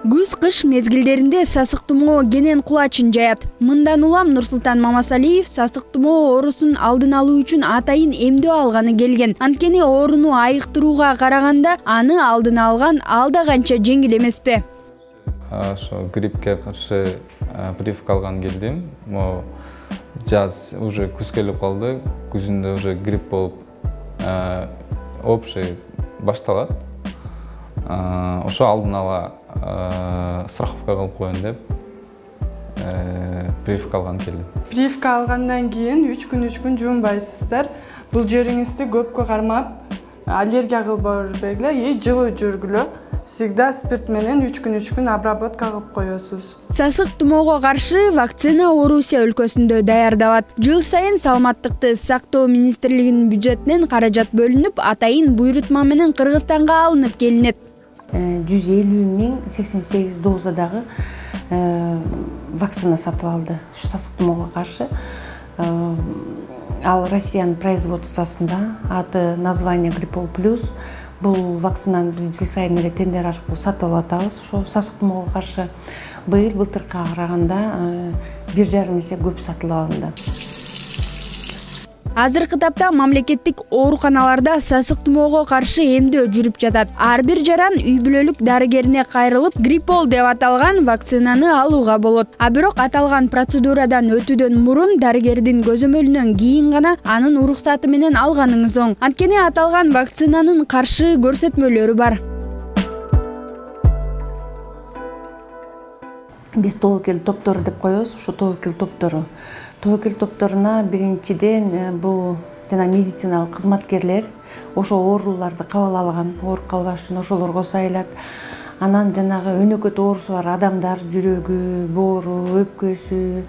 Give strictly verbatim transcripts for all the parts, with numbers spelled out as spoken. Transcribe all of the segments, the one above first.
Күз-кыш мезгилдеринде сасык тумоо кенен кулачын жаят. Мындан улам Нурсултан Мамасалиев сасык тумоо оорусун алдын алуу үчүн атайын эмдөө алганы келген. Анткени ооруну айыктырууга караганда аны алдын алган алда канча жеңил эмеспи? Ошо гриппке каршы прививка алган келдим. Могу жаз уже күз келип калды. Күзүндө уже грипп болуп общий башталат. Ошо алдын ала страховка кылып коеюн деп прививка алган келдим. Прививка алгандан кийин үч күн үч күн жуунбайсыздар. Бул жериңизди көпкө кармап, аллергия кылбоо бергиле и жылуу жүргүлө. Всегда спирт менен үч күн үч күн обработка кылып коесуз. Сасык тумоого каршы вакцина Орусия өлкөсүндө даярдалат. Жыл сайын Саламаттыкты сактоо министрлигинин бюджетинен каражат бөлүнүп, атайын буйрутма менен Кыргызстанга алынып келинет. жүз элүү миң сексен сегиз дозадагы вакцина сатып алды. Ушу сасык тумоого каршы. Ал Россиянын производствосунда, аты название Гриппол плюс. Бул вакцинаны биз жыл сайын эле тендер аркылуу сатып алып атабыз. Ошо сасык тумоого каршы быйыл былтыркыга караганда бир жарым эсе көп сатылып алынды. Азыркы тапта мамлекеттик ооруканаларда сасык тумоого каршы эмдөө жүрүп жатат. Ар бир жаран үй бүлөлүк дарыгерине кайрылып, Гриппол деп аталган вакцинаны алууга болот. А бирок аталган процедурадан өтүүдөн мурун дарыгердин көзөмөлүнөн кийин гана анын уруксаты менен алганыңыз оң. Анткени аталган вакцинанын каршы көрсөтмөлөрү бар. Биз тобокел топтору деп коебуз, ушу тобокел топтору. Тобокел топторуна биринчиден бул жана медициналык кызматкерлер ошо ооруларды кабыл алган, ооруп калбаш үчүн ошолорго сайылат. Анан жанагы өнөкөт оорусу бар адамдар, жүрөгү, боору, өпкөсү,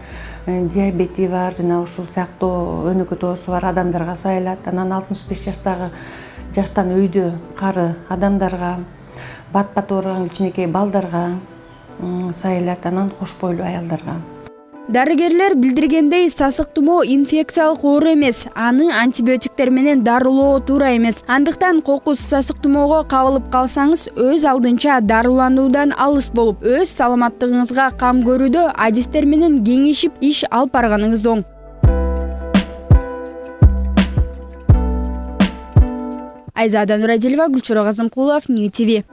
диабети бар, жана ушул сыяктуу өнөкөт оорусу бар адамдарга сайылат. Анан алтымыш беш жаштагы жаштан өйдө кары адамдарга, бат-бат ооруган кичинекей балдарга сайылат. Анан кош бойлуу аялдарга. Дарыгерлер билдиргендей, сасык тумоо инфекциялык оору эмес, аны антибиотиктер менен дарылоо туура эмес. Андыктан кокус сасык тумоого кабылып калсаңыз, өз алдынча дарылануудан алыс болуп, өз саламаттыгыңызга кам көрүүдө адистер менен кеңешип иш алып барганыңыз оң. Айзада Нурадилова, Гүлчурок Азымкулов, Нью ти ви.